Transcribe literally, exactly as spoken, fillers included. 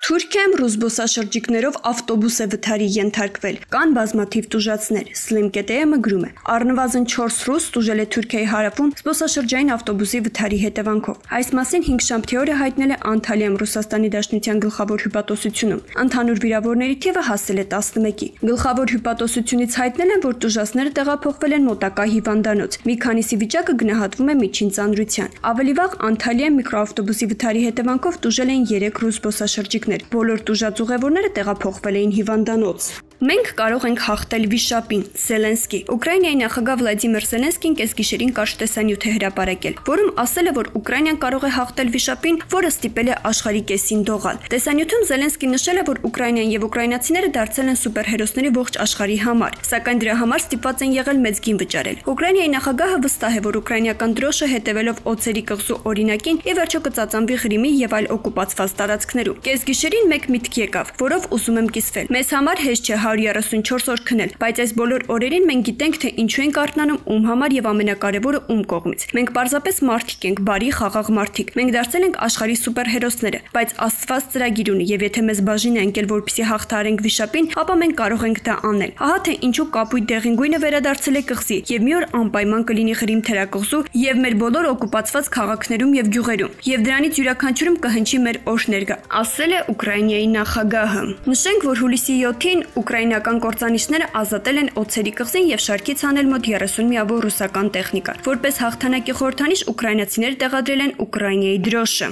Թուրքիայում ռուս զբոսաշրջիկներով ավտոբուս է վթարի ենթարկվել։ Կան բազմաթիվ տուժածներ։ Slim.am-ը գրում է. Առնվազն չորս ռուս տուժել է Թուրքիայի հարավում զբոսաշրջային ավտոբուսի վթարի հետևանքով։ Այս մասին հինգշաբթի օրը հայտնել է Անտալիայում Ռուսաստանի Դաշնության գլխավոր հյուպատոսությունում։ Ընդհանուր վիրավորների թիվը հասել է տասնմեկի։ Գլխավոր հյուպատոսությունից հայտնել են, որ տուժածները տեղափոխվել են մոտակա հիվանդանոց։ Մի քանիսի վիճակը գնահատվում է միջին ծանրության։ Ավելի վաղ Անտալիայում միկրոավտոբուսի վթարի հետևանքով տուժել էին երեք ռուս զբոսաշրջիկներ։ Բոլոր տուժած ուղևորները տեղափոխվել էին հիվանդանոց։ Մենք կարող ենք հաղթել վիշապին, Զելենսկի։ Ուկրաինայի նախագահ Վլադիմիր Զելենսկին կեսգիշերին կարճ տեսանյութ է հրապարակել, որում ասել է, որ Ուկրաինան կարող է հաղթել վիշապին, որը ստիպել է աշխարհի կեսին դողալ։ Տեսանյութում Զելենսկին նշել է, որ Ուկրաինան եւ ուկրաինացիները դարձել են սուպերհերոսների ողջ աշխարհի համար, սակայն դրա համար ստիպված են եղել մեծ գին վճարել։ Ուկրաինայի նախագահը վստահ է, որ ուկրաինական դրոշը հետևելով օձերի կղզու օրինակին ի վերջո կծածանվի Ղրիմի եւ այլ օկուպացված տարածքներում։ Կեսգիշերին մեկ միտք եկավ, որով ուզում եմ կիսվել։ Մեզ համար հեշտ չէ հարյուր երեսունչորս օր քնել, բայց այս բոլոր օրերին մենք գիտենք, թե ինչու ենք արթնանում, ում համար եւ ամենակարևորը ում կողմից։ Մենք պարզապես մարդիկ ենք, բարի, խաղաղ մարդիկ։ Մենք դարձել ենք աշխարհի սուպերհերոսները, բայց Աստված ծրագիր ունի եւ եթե մեզ բաժին է ընկել, որպեսզի հաղթահարենք վիշապին, ապա մենք կարող ենք դա անել։ Ահա թե ինչու կապույտ դեղին գույնը վերադարձել է կղզի եւ մի օր անպայման կլինի Ղրիմ թերակղզու եւ մեր բոլոր օկուպացված քաղաքներում եւ գյուղերում, եւ դրանից յուրաքանչյուրում կհնչի մեր օշներգը, ասել է Ուկրաինայի նախագահը։ Նշենք, որ հուլիսի յոթին ուկրաինական կործանիչները ազատել են օձերի կղզին եւ շարքից հանել մոտ երեսուն միավոր ռուսական տեխնիկա։ Որպես հաղթանակի խորհրդանիշ ուկրաինացիները տեղադրել են Ուկրաինայի դրոշը։